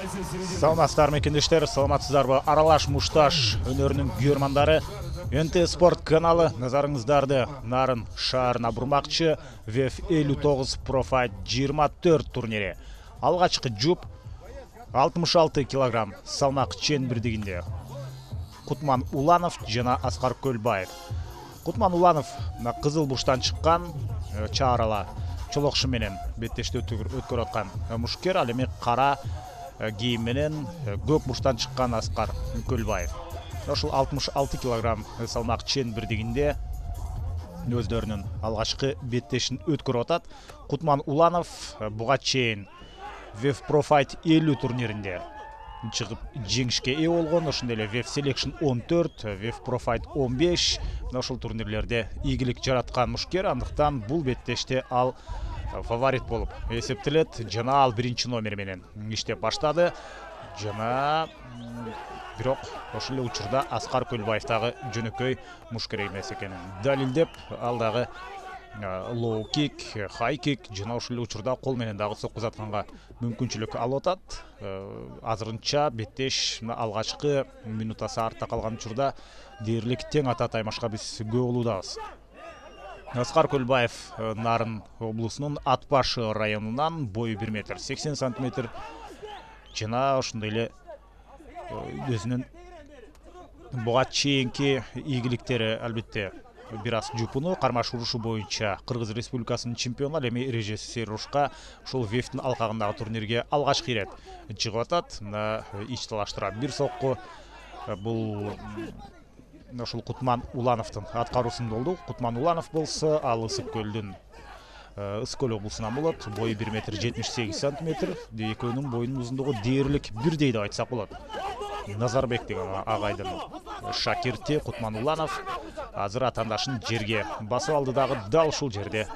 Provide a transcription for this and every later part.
Саламатсыздарбы мекендештер, саламатсыздарбы аралаш мушташ өнөрүнүн күйөрмандары. НТ Спорт каналы назарыңыздарды Нарын шаарына бурмакчы. ВФ 59 Профайт 24 турнири. Алгачкы жуп 66 килограмм салмак чен бирдигинде Кутман Уланов жана Аскар Көлбаев. Кутман Уланов кызыл бурчтан чыккан, чаарала чолокшу менен беттешти өткөрүп аткан мушкер, ал эми кара кийим менен көк бурчтан чыккан Аскар Көлбаев. Ошол 66 килограмм салмак чен бирдигинде өздөрүнүн алгачкы беттешин өткөрүп атат. Кутман Уланов буга чейин ВФ Профайт 50 турниринде чыгып жеңишке ээ болгон, ошондой эле ВФ Selection 14, ВФ Профайт 15 ошол турнирлерде ийгилик жараткан мушкер, андыктан бул беттеште ал фаворит болуп эсептелет. Жана ал биринчи номер менен иштеп баштады. Жана бирок ошол эле учурда Аскар Көлбаев дагы жөнөкөй мушкер эмес экенин далилдеп, ал дагы лоу кик, хай кик жана ошол эле учурда кол менен дагы соккузатканга мүмкүнчүлүк алып атат. Азырынча беттеш алгачкы минутасы артта калган учурда дээрлик тең ата таймашка биз күбө болуудабыз. Аскар Көлбаев Нарын облусунун Ат Башы районунан, бою 1 метр 80 сантиметр жана ошондой эле өзүнүн буга чейинки ийгиликтери албетте бир аз жупуну, кармаш урушу боюнча Кыргыз Республикасынын чемпиону, ал эми РЖС урушка ушул ВФтин алкагындагы турнирге алгачкы ирет чыгып атат. Ич талаштыра бир сокку бул ошол Кутман Улановдун аткаруусунда болду. Кутман Уланов болсо ал Ысык Көлдүн Ысык Көл облусунан болот. Бою 1 метр 78 сантиметр. Экөөнүн боюнун узундугу дээрлик бирдей деп айтсак болот. Назарбек деген агайдын шакирти Кутман Уланов азыр атаандашын жерге басып алды дагы дал ушул жерде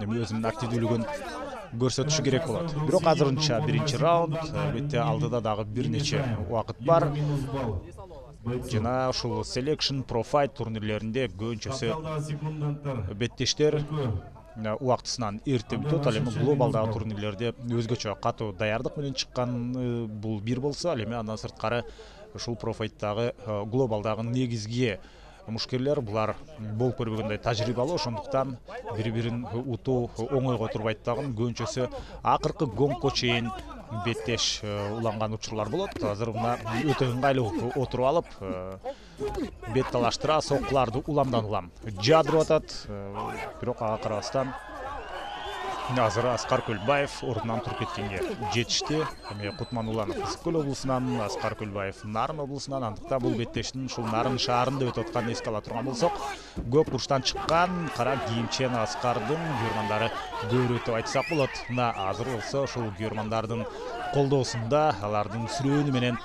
өзүнүн активдүүлүгүн көрсөтүшү керек болот. Бирок азырынча биринчи раунд, албетте алдыда дагы бир нече убакыт бар. Жана ушул Selection Профайт турнирлеринде көбүнчөсү беттештер убактысынан эрте бүтөт. Ал эми глобалдагы турнирлерде өзгөчө катуу даярдык менен чыккан бул бир болсо, ал эми андан сырткары ушул Профайттагы глобалдагы негизги мушкерлер булар болуп көрбөгөндөй тажрыйбалуу, ошондуктан бири-бирин утуу оңойго турбайт дагы. Көбүнчөсү акыркы гонгко чейин беттеш уланган учурлар болот. Азыр мына өтө ыңгайлуу отуруп алып, бет талаштыра, соккуларды уламдан улам жадырып атат. Бирок ага карабастан азыр Аскар Көлбаев ордунан туруп кеткенге жетишти. Эми Кутман Уланов Ысык Көл облусунан, Аскар Көлбаев Нарын облусунан. Андыктан бул беттештин ушул Нарын шаарында өтүп атканын эске ала турган болсок, көк бурчтан чыккан кара кийимчен Аскардын күйөрмандары көбүрөөк деп айтсак болот. Мына азыр болсо ушул күйөрмандардын колдоосунда, алардын сүрөөнү менен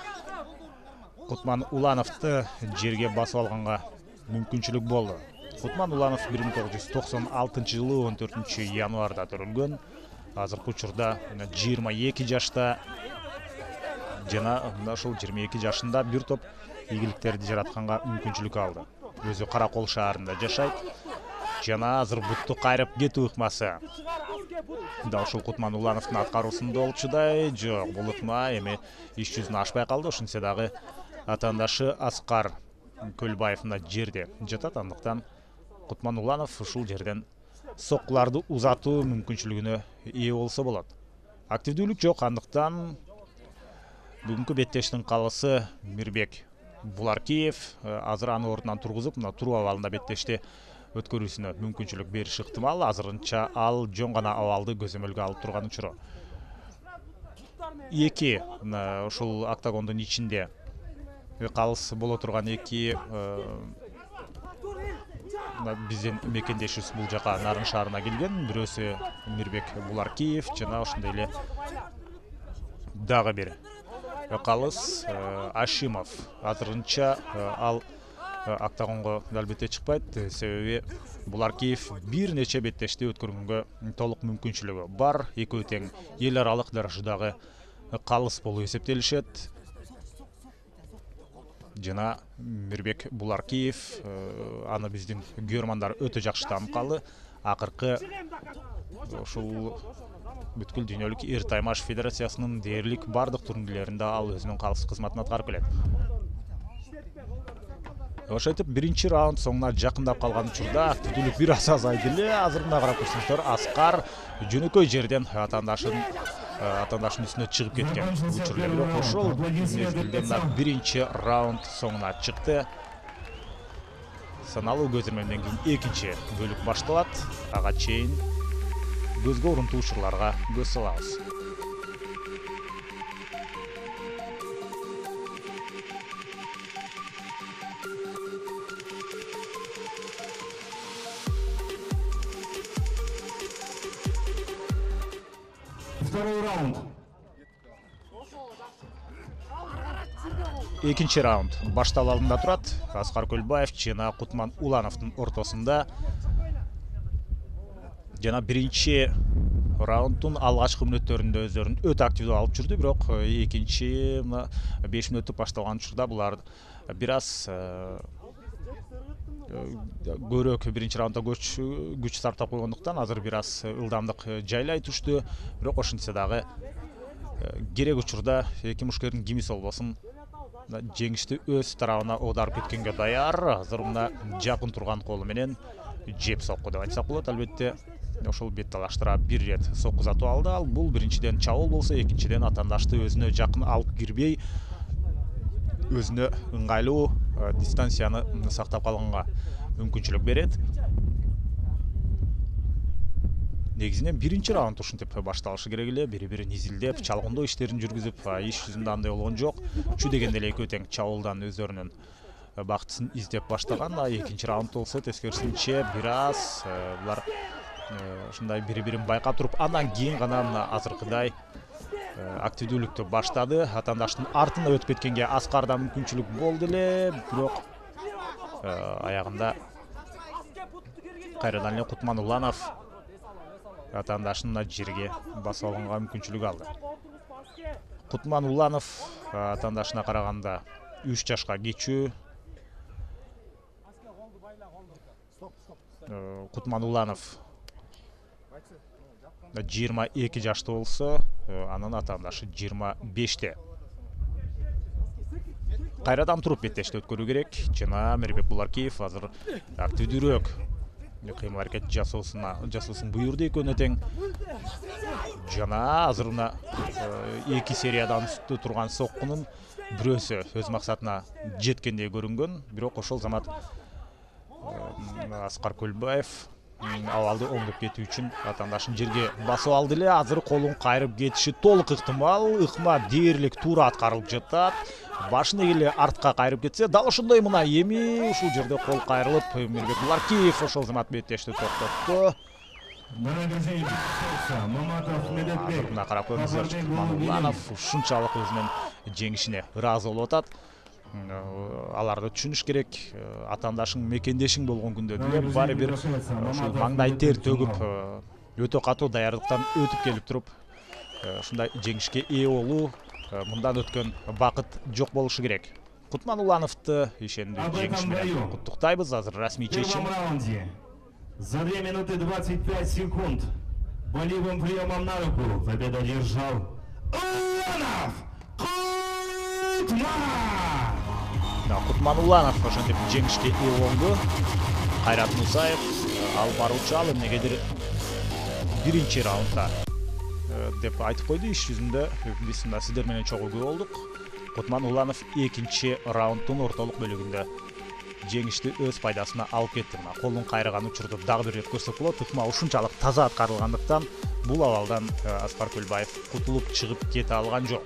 Кутман Улановду жерге басып алганга мүмкүнчүлүк болду. Кутман Уланов 1996 жылы 14 январда төрөлгөн. Азыркы учурда 22 жашта жана ошол 22 жашында бир топ ийгиликтерди жаратканга мүмкүнчүлүк алды. Өзү Каракол шаарында жашайт жана азыр бутту кайрып кетүү ыкмасы да ошол Кутман Улановдун аткаруусунда болчудай. Жок, бул ыкма эми иш жүзүнө ашпай калды. Ошентсе дагы атаандашы Аскар Көлбаев мына жерде жатат. Андыктан Кутман Уланов ушул жерден соккуларды узатуу мүмкүнчүлүгүнө ээ болсо болот. Активдүүлүк жок, андыктан бүгүнкү беттештин калысы Мирбек Буларкиев азыр аны ордунан тургузуп, мына туруу абалында беттешти өткөрүүсүнө мүмкүнчүлүк бериши ыктымал. Азырынча ал жөн гана абалды көзөмөлгө алып турган учуру. Эки ушул октагондун ичинде калыс боло турган эки биздин мекендешибиз бул жака Нарын шаарына келген. Бирөөсү Мирбек Буларкиев жана ошондой эле дагы бир калыс Ашимов. Азырынча ал октагонго албетте чыкпайт, себеби Буларкиев бир нече беттешти өткөргөнгө толук мүмкүнчүлүгү бар. Экөө тең эл аралык даражадагы калыс болуп эсептелишет. Жана Мирбек Буларкиев аны биздин күйөрмандар өтө жакшы таанып калды. Акыркы ушул бүткүл дүйнөлүк эр таймаш федерациясынын дээрлик бардык турнирлеринде ал өзүнүн калыс кызматын аткарып келет. Ошентип биринчи раунд соңуна жакындап калган учурда активдүүлүк бир аз азайды эле. Азыр мына карап көрсөңүздөр, Аскар жөнөкөй жерден атаандашынын үстүнө чыгып кеткен учур эле, бирок ошол мезгилде мына биринчи раунд соңуна чыкты. Саналуу көзөрмөндөн кийин экинчи бөлүк башталат. Ага чейин көзгө урунтуу учурларга көз салабыз. Второй раунд. Экинчи раунд башталуу алдында турат. Аскар Көлбаев жана Кутман Улановдун ортосунда. Жана биринчи раунддун алгачкы мүнөттөрүндө өздөрүн өтө активдүү алып жүрдү, бирок экинчи 5 мүнөттүк башталган учурда булар бир аз көбүрөөк биринчи раундда күч сарптап койгондуктан азыр бир аз ылдамдык жайлай түштү. Бирок ошентсе дагы керек учурда эки мушкердин кимиси болбосун жеңишти өз тарабына оодарып кеткенге даяр. Азыр мына жакын турган колу менен жеп сокку деп айтсак болот. Албетте ошол бет талаштыра бир рет сокку затып алды. Ал бул биринчиден чабуул болсо, экинчиден атаандашты өзүнө жакын алып кирбей, өзүнө ыңгайлуу дистанцияны сактап калганга мүмкүнчүлүк берет. Негизинен биринчи раунд ушинтип башталышы керек эле, бири-бирин изилдеп, чалгындоо иштерин жүргүзүп, иш жүзүндө андай болгон жок. Чү дегенде эле экөө тең чабуулдан өздөрүнүн бактысын издеп баштаган. Экинчи раунд болсо тескерисинче бир аз булар ушундай бири-бирин байкап туруп, андан кийин гана мына азыркыдай активдүүлүктү баштады. Атаандаштын артына өтүп кеткенге Аскарда мүмкүнчүлүк болду эле, бирок аягында кайрадан эле Кутман Уланов атаандашын жерге басып алганга мүмкүнчүлүк алды. Кутман Уланов атаандашына караганда 3 жашка кичүү. Кутман Уланов 22 жашта болсо, анын атаандашы 25те. Кайрадан туруп беттешти өткөрүү керек. Жана Мирбек Буларкиев азыр активдүүрөөк кыймыл аракет жасоосун буйрду экөөнө тең. Жана азыр мына 2 сериядан үстү турган соккунун бирөөсү өз максатына жеткендей көрүнгөн. Бирок ошол замат Аскар Көлбаев абалды оңдоп кетүү үчүн атаандашын жерге басып алды эле. Азыр колун кайрып кетиши толук ыктымал. Ыкма дээрлик туура аткарылып жатат. Башын эгеле артка кайрып кетсе, дал ошондой мына эми ушул жерде кол кайрылып, Мирбек Буларкиев ошол замат беттешти токтотту. Мына карап көрүңүздөр, Кутман Уланов ушунчалык өзүнүн жеңишине ыраазы болуп атат. Аларды түшүнүш керек. Атаандашың мекендешиң болгон күндө деле баары бир ушул маңдай тер төгүп, өтө катуу даярдыктан өтүп келип туруп, ушундай жеңишке ээ болуу, мындан өткөн бакыт жок болушу керек. Кутман Улановду ишендүү жеңиш менен куттуктайбыз. Азыр расмий чечим. За 2 минуты 25 секунд болевым приемом на руку победу одержал Уланов Кутман. Кутман Уланов ошентип жеңишке ээ болду. Кайрат Мусаев ал баруучу, ал эмнегедир биринчи раундда деп айтып койду. Иш жүзүндө биз сиздер менен чогуу көрүп болдук. Кутман Уланов экинчи раунддун ортолук бөлүгүндө жеңишти өз пайдасына алып кетти. Колун кайраган учурду дагы бир рет көрсөк болот. Ыкма ушунчалык таза аткарылгандыктан бул абалдан Аскар Көлбаев кутулуп чыгып кете алган жок.